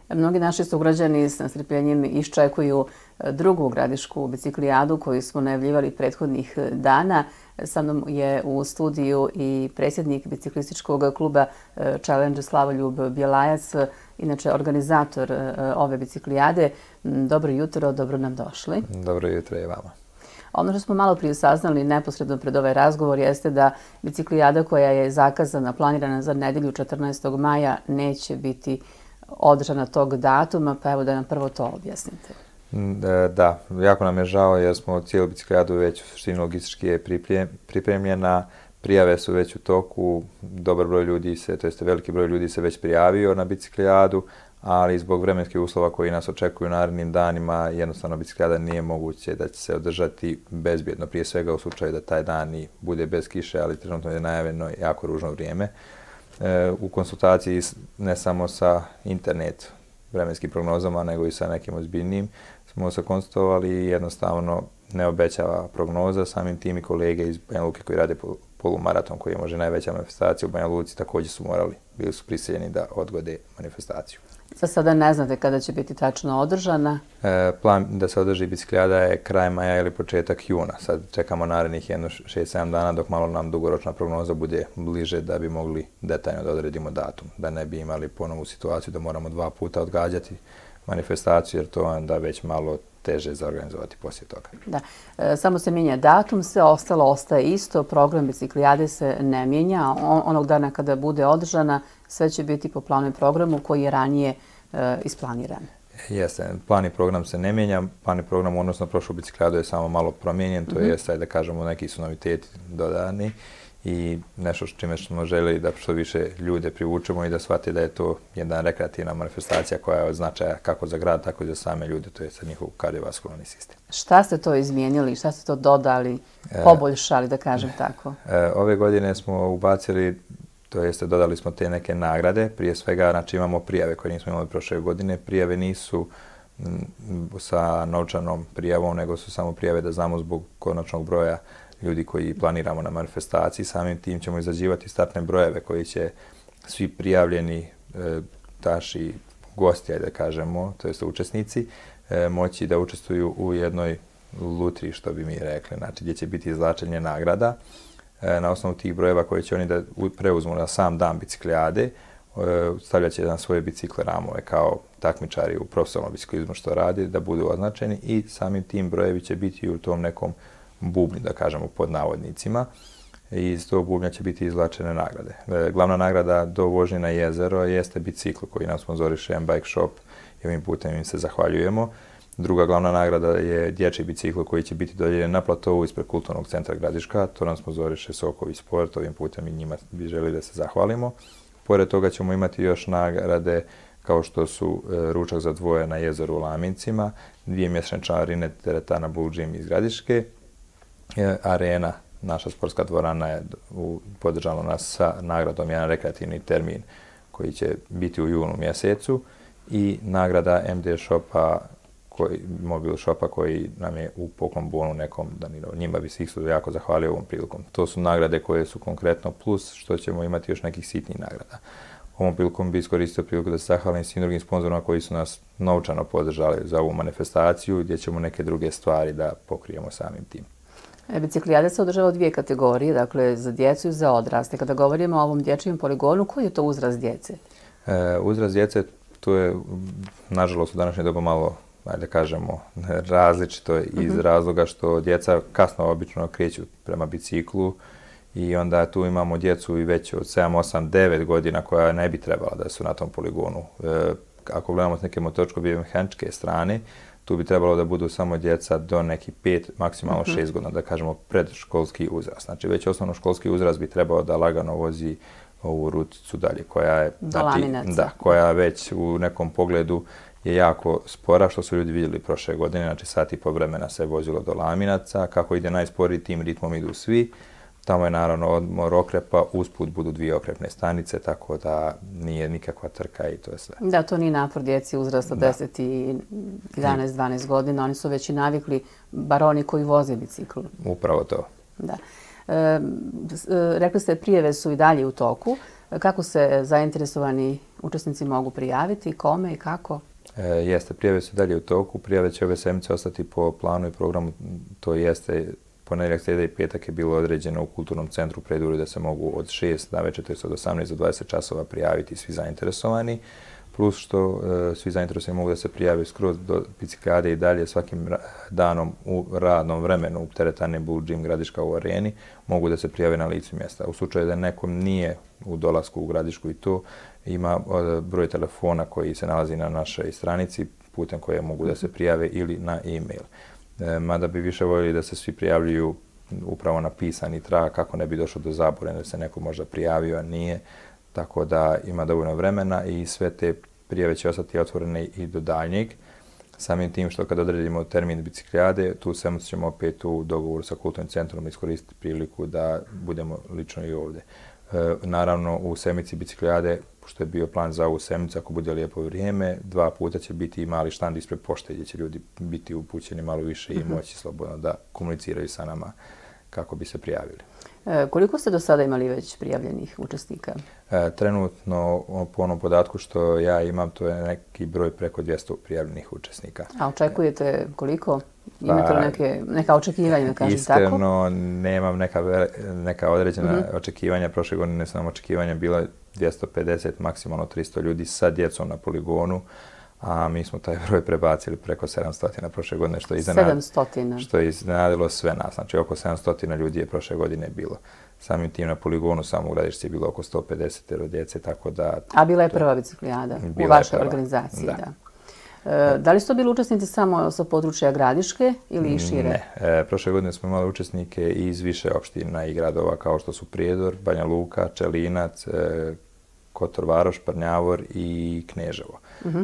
Mnogi naši sugrađani s nestrpljenjem iščekuju drugu gradišku biciklijadu koju smo najavljivali prethodnih dana. Sa mnom je u studiju i predsjednik biciklističkog kluba Challenge Slavoljub Bjelajac, inače organizator ove biciklijade. Dobro jutro, dobro nam došli. Dobro jutro i vama. Ono što smo malo prije saznali neposredno pred ovaj razgovor jeste da biciklijada koja je zakazana, planirana za nedjelju 14. maja neće biti održana tog datuma, pa evo da nam prvo to objasnite. Da, jako nam je žao jer smo cijelu biciklijadu već u suštini logistički je pripremljena, prijave su već u toku, dobar broj ljudi se, to jest veliki broj ljudi se već prijavio na biciklijadu, ali zbog vremenskih uslova koji nas očekuju u narednim danima, jednostavno biciklijada nije moguće da će se održati bezbjedno, prije svega u slučaju da taj dan i bude bez kiše, ali trenutno je najavljeno jako ružno vrijeme. U konsultaciji ne samo sa internet vremenskim prognozama, nego i sa nekim ozbiljnim smo se konstatovali i jednostavno ne obećava prognoza. Samim tim i kolege iz Banja Luke koji rade polumaraton, koji je možda najveća manifestacija u Banja Luci, također su bili su prisiljeni da odgode manifestaciju. Za sada ne znate kada će biti tačno održana? Plan da se održi biciklijada je kraj maja ili početak juna. Sad čekamo narednih 6-7 dana dok malo nam dugoročna prognoza bude bliže da bi mogli detaljno da odredimo datum. Da ne bi imali ponovu situaciju da moramo 2 puta odgađati manifestaciju jer to je onda već malo teže za organizovati poslije toga. Da, samo se mijenja datum, sve ostalo ostaje isto, program biciklijade se ne mijenja. Onog dana kada bude održana, sve će biti po planu i programu koji je ranije isplaniran. Jeste, plan i program se ne mijenja, plan i program odnosno prošlu biciklijadu je samo malo promijenjen, to je da kažemo neki su noviteti dodani i nešto čime smo željeli da što više ljude privučemo i da shvate da je to jedna rekreativna manifestacija koja je od značaja kako za grad, tako i za same ljude, to je za njihov kardiovaskularni sistem. Šta ste to izmijenili, šta ste to dodali, poboljšali, da kažem tako? Ove godine smo ubacili, to jeste dodali smo te neke nagrade, prije svega znači imamo prijave koje nismo imali prošle godine, prijave nisu sa novčanom prijavom, nego su samo prijave da znamo zbog konačnog broja ljudi koji planiramo na manifestaciji. Samim tim ćemo izrađivati startne brojeve koji će svi prijavljeni naši gosti, da kažemo, to jest učesnici, moći da učestvuju u jednoj lutriji, što bi mi rekli, znači gdje će biti izvlačenje nagrada. Na osnovu tih brojeva koje će oni da preuzmu na sam dan biciklijade, stavljat će na svoje bicikle ramove kao takmičari u profesionalnom biciklizmu što radi, da budu označeni i samim tim brojevi će biti u tom nekom bubnju, da kažemo, pod navodnicima. I iz tog bubnja će biti izvlačene nagrade. Glavna nagrada do vožnje na jezero jeste bicikl koji nam sponzoriše M-Bike Shop i ovim putem im se zahvaljujemo. Druga glavna nagrada je dječji bicikl koji će biti dodijeljen na platovu ispred Kulturnog centra Gradiška. To nam sponzoriše Sokovi Sport, ovim putem i njima bi želi da se zahvalimo. Pored toga ćemo imati još nagrade kao što su ručak za dvoje na jezeru u Lamincima, 2 mjesečne članarine teretana Blue Gym iz Gradiške, Arena, naša sportska dvorana je podržala nas sa nagradom jedan rekreativni termin koji će biti u junu mjesecu i nagrada MD Shopa, mobil shopa koji nam je u poklon bonu nekom danirao. Njima bi se isto jako zahvalio ovom prilikom. To su nagrade koje su konkretno plus što ćemo imati još nekih sitnih nagrada. Ovom prilikom bi iskoristio priliku da se zahvalim svim drugim sponzorima koji su nas novčano podržali za ovu manifestaciju gdje ćemo neke druge stvari da pokrijemo samim tim. Biciklijada se održava u 2 kategorije, dakle za djecu i za odrasle. Kada govorimo o ovom dječjem poligonu, koji je to uzrast djece? Uzrast djece, to je, nažalost, u današnje doba malo, da kažemo, različito iz razloga što djeca kasno obično kreću prema biciklu i onda tu imamo djecu i već od 7, 8, 9 godina koja ne bi trebala da su na tom poligonu. Ako gledamo s neke motoričko-biomehaničke strane, tu bi trebalo da budu samo djeca do nekih 5, maksimalno 6 godina, da kažemo predškolski uzrast. Znači već osnovnoškolski uzrast bi trebao da lagano vozi ovu ruticu dalje, koja je, koja već u nekom pogledu je jako spora, što su ljudi vidjeli prošle godine, znači sat i po vremena se vozilo do Laminaca, kako ide najsporiji tim ritmom idu svi. Tamo je naravno odmor okrepa, usput budu 2 okrepne stanice, tako da nije nikakva trka i to je sve. Da, to nije napor djeci uzrasta 10 i 11, 12 godina, oni su već i navikli, bar oni koji voze bicikl. Upravo to. Da. Rekli ste, prijave su i dalje u toku. Kako se zainteresovani učesnici mogu prijaviti, kome i kako? Jeste, prijave su dalje u toku. Prijave će ove sedmice ostati po planu i programu. To jeste, ponedjeljak, srijeda i petak je bilo određeno u Kulturnom centru Predvorju da se mogu od 6 navečer, to je od 18 do 20 časova prijaviti svi zainteresovani. Plus što svi zainteresovani mogu da se prijave skroz do biciklijade i dalje svakim danom u radnom vremenu u teretani Blue Gym Gradiška u Areni mogu da se prijave na licu mjesta. U slučaju da nekom nije u dolasku u Gradišku i to, ima broj telefona koji se nalazi na našoj stranici putem koje mogu da se prijave ili na e-mail. Mada bi više voljeli da se svi prijavljuju upravo na pisani trag kako ne bi došlo do zabune da se neko možda prijavio, a nije. Tako da ima dovoljno vremena i sve te prijave će ostati otvorene i do daljnjeg. Samim tim što kad odredimo termin biciklijade, tu sedmicu ćemo opet u dogovoru sa Kulturnim centrom iskoristiti priliku da budemo lično i ovdje. Naravno, u sedmici biciklijade, što je bio plan za ovu sedmicu, ako bude lijepo vrijeme, 2 puta će biti i mali štand ispred pošte gdje će ljudi biti upućeni malo više i moći slobodno da komuniciraju sa nama kako bi se prijavili. Koliko ste do sada imali već prijavljenih učesnika? Trenutno, po onom podatku što ja imam, to je neki broj preko 200 prijavljenih učesnika. A očekujete koliko? Imate li neka očekivanja, da kažem tako? Iskreno, nemam neka određena očekivanja. Prošle godine su nam očekivanja bila 250, maksimalno 300 ljudi sa djecom na poligonu, a mi smo taj broj prebacili preko 700 prošle godine, što je iznenadilo sve nas. Znači, oko 700 ljudi je prošle godine bilo. Samim tim na poligonu samo u Gradišci je bilo oko 150 djece, tako da... A bila je prva biciklijada u vašoj organizaciji, da. Da li su to bili učesnici samo sa područja Gradiške ili i šire? Ne. Prošle godine smo imali učesnike iz više opština i gradova kao što su Prijedor, Banja Luka, Čelinac, Kotor Varoš, Prnjavor i Kneževo.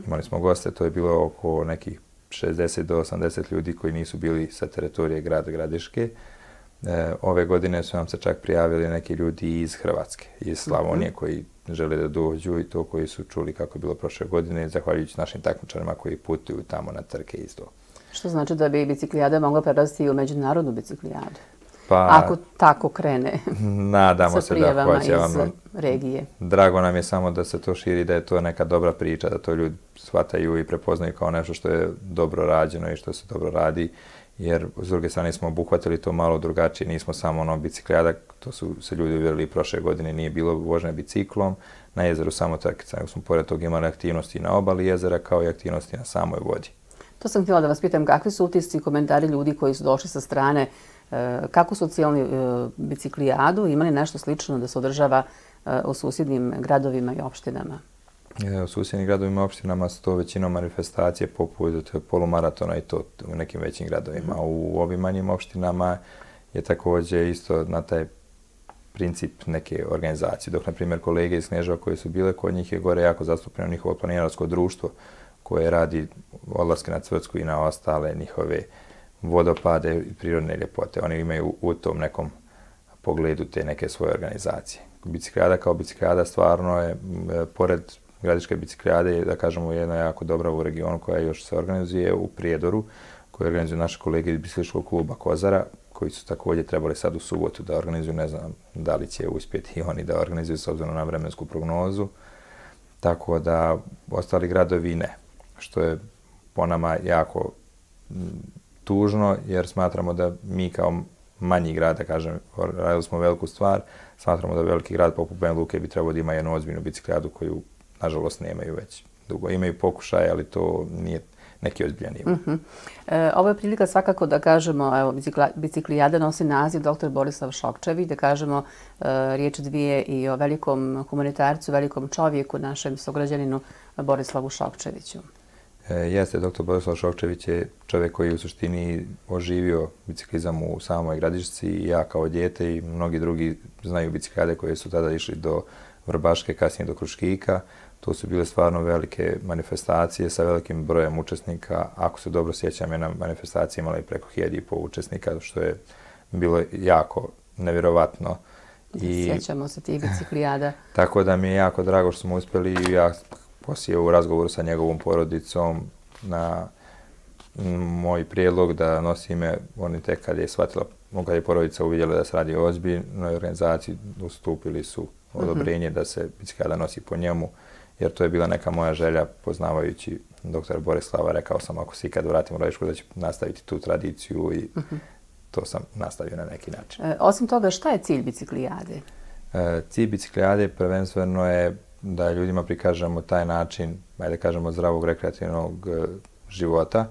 Imali smo goste, to je bilo oko nekih 60 do 80 ljudi koji nisu bili sa teritorije grada Gradiške. Ove godine su nam se čak prijavili neki ljudi iz Hrvatske, iz Slavonije koji žele da dođu i to koji su čuli kako je bilo prošle godine, zahvaljujući našim takmičarima koji putuju tamo na trke isto. Što znači da bi biciklijada mogla prerasti u međunarodnu biciklijadu? Ako tako krene sa prijavama iz regije. Drago nam je samo da se to širi, da je to neka dobra priča, da to ljudi shvataju i prepoznaju kao nešto što je dobro rađeno i što se dobro radi. Jer s druge strane smo obuhvatili to malo drugačije, nismo samo biciklijada, to su se ljudi uvjerili prošle godine, nije bilo vožnje biciklom, na jezeru samo trkica, nego smo pored toga imali aktivnosti na obali jezera kao i aktivnosti na samoj vodi. To sam htjela da vas pitam, kakvi su utisci i komentari ljudi koji su došli sa strane, kako su ocijenili biciklijadu, imali nešto slično da se održava u susjednim gradovima i opštinama? U susjednim gradovima i opštinama su to većinom manifestacije poput polumaratona i to u nekim većim gradovima. U ovim manjim opštinama je također isto na taj princip neke organizacije. Dok, na primjer, kolege iz Kneževa koji su bile kod njih je gore jako zastupljeno njihovo planinarsko društvo koje radi odlaske na Cvrtsku i na ostale njihove vodopade i prirodne ljepote. Oni imaju u tom nekom pogledu te neke svoje organizacije. Biciklijada kao biciklijada stvarno je, pored Gradiške biciklijade, da kažemo, jedna jako dobra u regionu koja još se organizuje u Prijedoru, koju organizuju naše kolege iz biciklističkog kluba Kozara, koji su također trebali sad u subotu da organizuju, ne znam da li će uspjeti i oni da organizuju s obzirom na vremensku prognozu. Tako da ostali gradovi ne, što je po nama jako tužno, jer smatramo da mi kao manji grad, da kažem, radili smo veliku stvar, smatramo da veliki grad poput Banja Luke bi trebao da ima jednu ozbiljnu biciklijadu koju, nažalost, nemaju već dugo. Imaju pokušaje, ali to nije neki ozbiljan ima. Ovo je prilika svakako da kažemo, evo, biciklijada nosi naziv dr. Borislav Šokčević, da kažemo riječ dvije i o velikom humanitarcu, velikom čovjeku, našem sugrađaninu Borislavu Šokčeviću. Jeste, dr. Borislav Šokčević je čovjek koji je u suštini oživio biciklizam u samoj Gradišci i ja kao dijete i mnogi drugi znaju biciklijade koje su tada išli do Vrbaške, kasnije do Kruškika. To su bile stvarno velike manifestacije sa velikim brojem učesnika. Ako se dobro sjećam, jedna manifestacija imala i preko 1500 učesnika, što je bilo jako nevjerovatno. Sjećamo se tih biciklijada. Tako da mi je jako drago što smo uspjeli i ja poslije u razgovoru sa njegovom porodicom na moj prijedlog da nosi ime, oni tek kad je shvatila, kad je porodica uvidjela da se radi o ozbiljnoj organizaciji, ustupili su odobrenje da se biciklijada nosi po njemu. jer to je bila neka moja želja, poznavajući doktora Borislava, rekao sam ako se ikad vratim u Radišku da ću nastaviti tu tradiciju i to sam nastavio na neki način. Osim toga, šta je cilj biciklijade? Cilj biciklijade prvenstveno je da ljudima prikažemo taj način, ajde kažemo, zdravog rekreativnog života.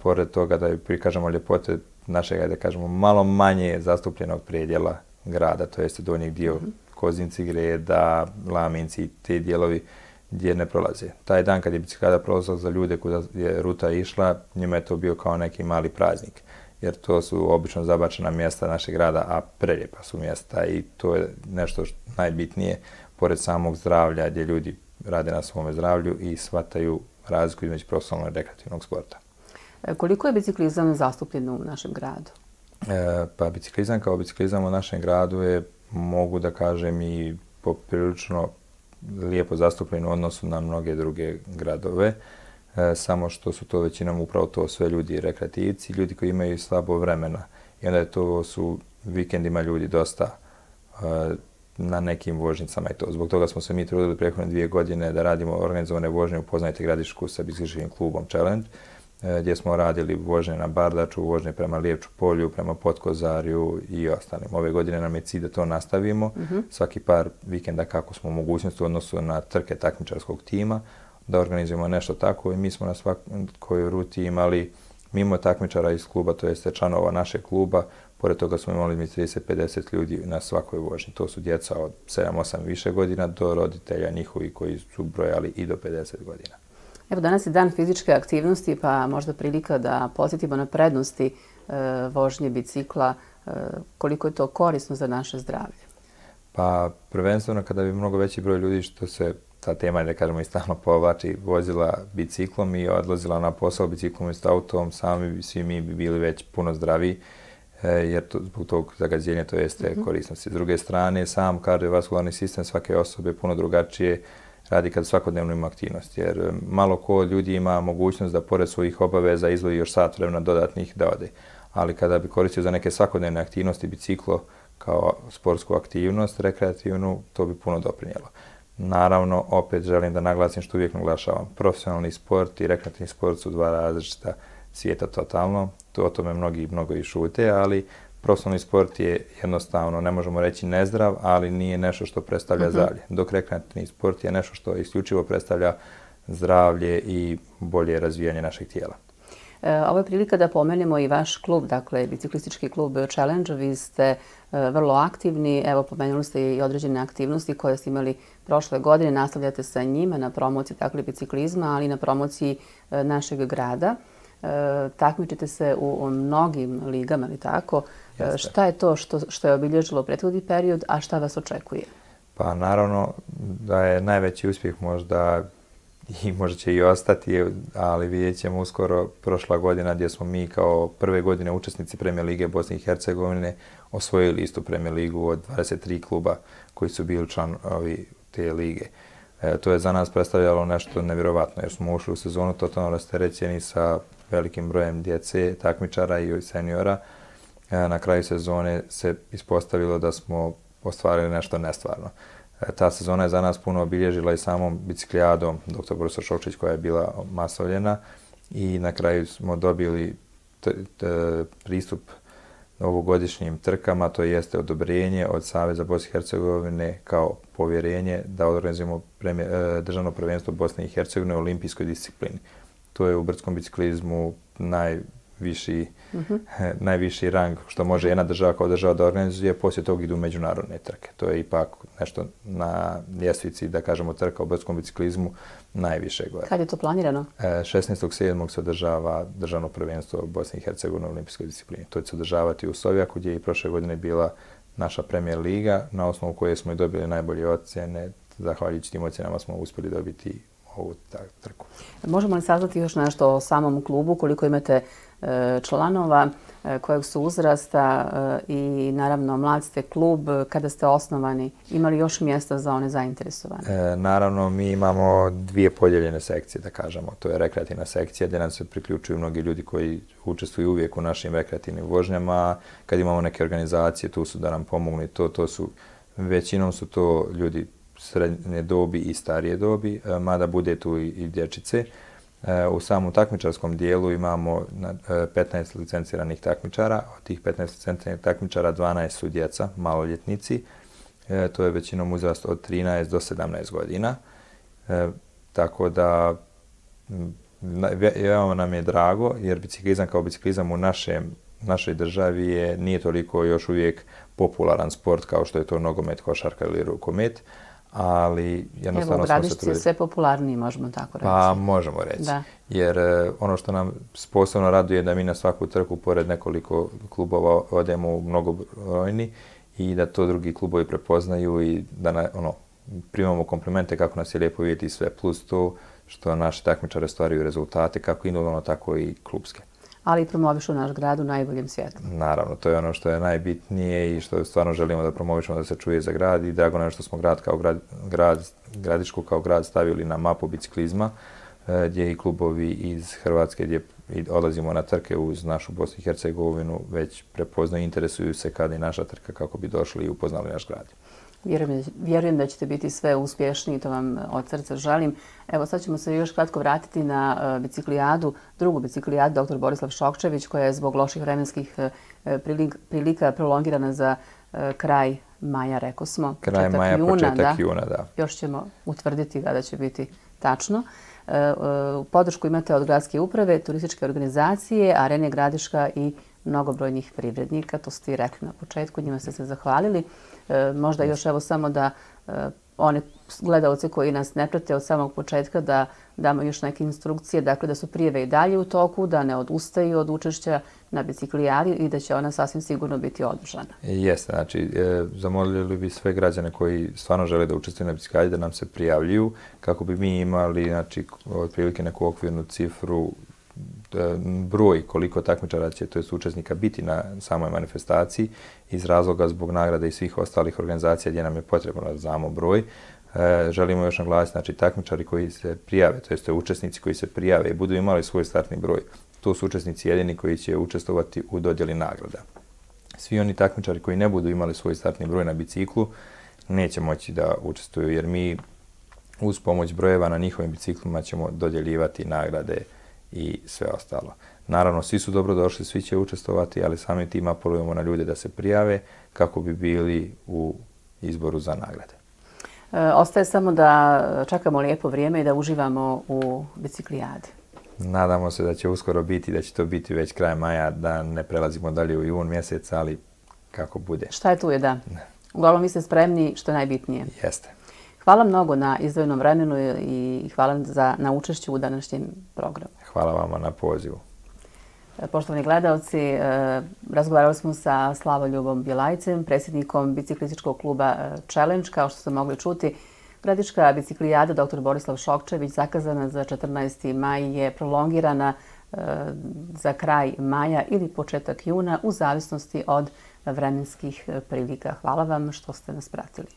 Pored toga da prikažemo ljepote našeg, ajde kažemo, malo manje zastupljenog predjela grada, to jeste donji dio Kozinci, Greda, Laminci, te dijelovi gdje ne prolaze. Taj dan kad je biciklijada prolazila za ljude kuda je ruta išla, njima je to bio kao neki mali praznik. Jer to su obično zabačena mjesta našeg grada, a prelijepa su mjesta i to je nešto najbitnije, pored samog zdravlja, gdje ljudi rade na svome zdravlju i shvataju razliku između profesionalnog i rekreativnog sporta. Koliko je biciklizam zastupljen u našem gradu? Pa biciklizam kao biciklizam u našem gradu je, mogu da kažem, i poprilično lijepo zastupljen u odnosu na mnoge druge gradove. Samo što su to većinom upravo to sve ljudi rekreativci, ljudi koji imaju slabo vremena. I onda to su vikendima ljudi dosta na nekim vožnicama i to. Zbog toga smo se mi trudili prethodne 2 godine da radimo organizovane vožnje Upoznajte Gradišku sa biciklističkim klubom Challenge, gdje smo radili vožnje na Bardaču, vožnje prema Lijepču polju, prema Potkozarju i ostalim. Ove godine nam je cilj da to nastavimo. Svaki par vikenda kako smo u mogućnosti u odnosu na trke takmičarskog tima, da organizujemo nešto tako i mi smo na svakoj ruti imali, mimo takmičara iz kluba, to jeste članova našeg kluba, pored toga smo imali 30-50 ljudi na svakoj vožnji. To su djeca od 7-8 više godina do roditelja njihovi koji su brojali i do 50 godina. Evo, danas je dan fizičke aktivnosti, pa možda prilika da podsjetimo na prednosti vožnje bicikla, koliko je to korisno za naše zdravlje. Pa prvenstveno kada bi mnogo veći broj ljudi, što se ta tema, da kažemo, i stalno povlači, vozila biciklom i odlazila na posao biciklom i s autom, svi mi bi bili već puno zdraviji, jer zbog tog zagađenja to jeste korisnosti. S druge strane, sam kardiovaskularni sistem svake osobe puno drugačije radi kad svakodnevno ima aktivnost, jer malo ko ljudi ima mogućnost da pored svojih obaveza izdvoji još sat vremena dodatnih da ode. Ali kada bi koristio za neke svakodnevne aktivnosti biciklo kao sportsku aktivnost, rekreativnu, to bi puno doprinijelo. Naravno, opet želim da naglasim što uvijek naglašavam, profesionalni sport i rekreativni sport su dva različita svijeta totalno. O tome mnogo i šute, ali profesionalni sport je jednostavno, ne možemo reći nezdrav, ali nije nešto što predstavlja zdravlje. Dok rekreativni sport je nešto što isključivo predstavlja zdravlje i bolje razvijanje našeg tijela. Ovo je prilika da pomenemo i vaš klub, dakle biciklistički klub Challenge. Vi ste vrlo aktivni, evo pomenuli ste i određene aktivnosti koje ste imali prošle godine, nastavljate sa njima na promociji dakle biciklizma, ali i na promociji našeg grada. Takmičite se u mnogim ligama, ali tako? Jeste. Šta je to što je obilježilo prethodni period, a šta vas očekuje? Pa naravno da je najveći uspjeh možda i možda će i ostati, ali vidjet ćemo uskoro prošla godina gdje smo mi kao prve godine učesnici Premijer Lige Bosne i Hercegovine osvojili istu Premijer Ligu od 23 kluba koji su bili članovi te lige. To je za nas predstavljalo nešto nevjerovatno jer smo ušli u sezonu totalno rasterećeni sa velikim brojem djece, takmičara i seniora. Na kraju sezone se ispostavilo da smo ostvarili nešto nestvarno. Ta sezona je za nas puno obilježila i samom biciklijadom dr. Borislav Šokčić koja je bila masovljena i na kraju smo dobili pristup ovogodišnjim trkama, to jeste odobrenje od Saveza Bosne i Hercegovine kao povjerenje da organizujemo državno prvenstvo Bosne i Hercegovine u olimpijskoj disciplini. To je u brdskom biciklizmu najviši rang što može jedna država kao država da organizuje, poslije toga idu međunarodne trke. To je ipak nešto na ljestvici, da kažemo, trka u brdskom biciklizmu najviše gore. Kad je to planirano? 16.7. se održava državno prvenstvo Bosne i Hercegovine u olimpijskoj disciplini. To će se održavati u Sovjaku gdje je i prošle godine bila naša Premijer Liga, na osnovu koje smo i dobili najbolje ocjene. Zahvaljujući tim ocjenama smo uspjeli dobiti ovu trku. Možemo li saznati još nešto o samom klubu, koliko imate članova, kojeg su uzrasta i naravno mlad ste klub, kada ste osnovani, imali još mjesta za one zainteresovane? Naravno, mi imamo 2 podijeljene sekcije, da kažemo. To je rekreativna sekcija gdje nam se priključuju mnogi ljudi koji učestvuju uvijek u našim rekreativnim vožnjama. Kad imamo neke organizacije, tu su da nam pomognu i većinom su to ljudi srednje dobi i starije dobi, mada bude tu i dječice. U samom takmičarskom dijelu imamo 15 licenciranih takmičara. Od tih 15 licenciranih takmičara 12 su djeca, maloljetnici. To je većinom uzrast od 13 do 17 godina. Tako da veoma nam je drago jer biciklizam kao biciklizam u našoj državi nije toliko još uvijek popularan sport kao što je to nogomet, košarka ili rukomet, ali jednostavno smo se trudili. Evo, u sve popularniji, možemo tako reći. Pa, možemo reći. Da. Jer ono što nam posebno raduje je da mi na svaku trku, pored nekoliko klubova, odemo mnogobrojni i da to drugi klubovi prepoznaju i da primamo komplimente kako nas je lijepo vidjeti sve, plus to što naši takmičari ostvaruju rezultate, kako individualno, tako i klubske. Ali i promovišu naš grad u najboljem svijetu. Naravno, to je ono što je najbitnije i što stvarno želimo da promovišemo, da se čuje za grad i drago nam je što smo Gradišku kao grad stavili na mapu biciklizma, gdje i klubovi iz Hrvatske gdje odlazimo na trke uz našu Bosnu i Hercegovinu već prepoznaju i interesuju se kada je naša trka kako bi došli i upoznali naš grad. Vjerujem da ćete biti sve uspješni i to vam od srca želim. Evo sad ćemo se još kratko vratiti na biciklijadu, drugu biciklijadu dr. Borislav Šokčević koja je zbog loših vremenskih prilika prolongirana za kraj maja, rekao smo. Kraj maja, početak juna, da. Još ćemo utvrditi kada će biti tačno. Podršku imate od gradske uprave, turističke organizacije, Arene Gradiška i mnogobrojnih privrednika. To ste i rekli na početku, njima ste se zahvalili. Možda još evo samo da one gledalce koji nas ne prate od samog početka da damo još neke instrukcije, dakle da su prijave i dalje u toku, da ne odustaju od učešća na biciklijadi i da će ona sasvim sigurno biti održana. Jeste, znači zamolili bi sve građane koji stvarno žele da učestvuju na biciklijadi da nam se prijavljuju kako bi mi imali znači otprilike neku okvirnu cifru, broj koliko takmičara će, to jest učesnika, biti na samoj manifestaciji iz razloga zbog nagrade i svih ostalih organizacija gdje nam je potrebno da znamo broj. Želimo još naglasiti, znači takmičari koji se prijave, to jest učesnici koji se prijave i budu imali svoj startni broj, to su učesnici jedini koji će učestvovati u dodjeli nagrada. Svi oni takmičari koji ne budu imali svoj startni broj na biciklu neće moći da učestvuju jer mi uz pomoć brojeva na njihovim biciklima ćemo dodjeljivati nagrade i sve ostalo. Naravno, svi su dobrodošli, svi će učestvovati, ali samim tim apelujemo na ljude da se prijave kako bi bili u izboru za nagrade. Ostaje samo da čekamo lijepo vrijeme i da uživamo u biciklijadi. Nadamo se da će uskoro biti, da će to biti već kraj maja, da ne prelazimo dalje u jun mjesec, ali kako bude. Šta je tu je da. Uglavnom vi ste spremni, što je najbitnije. Jeste. Hvala mnogo na izdvojenom vremenu i hvala na učešću u današnjem programu. Hvala vama na pozivu. Poštovani gledalci, razgovarali smo sa Slavoljubom Bjelajcem, predsjednikom biciklističkog kluba Challenge. Kao što ste mogli čuti, gradiška biciklijada dr. Borislav Šokčević zakazana za 14. maj je prolongirana za kraj maja ili početak juna u zavisnosti od vremenskih prilika. Hvala vam što ste nas pratili.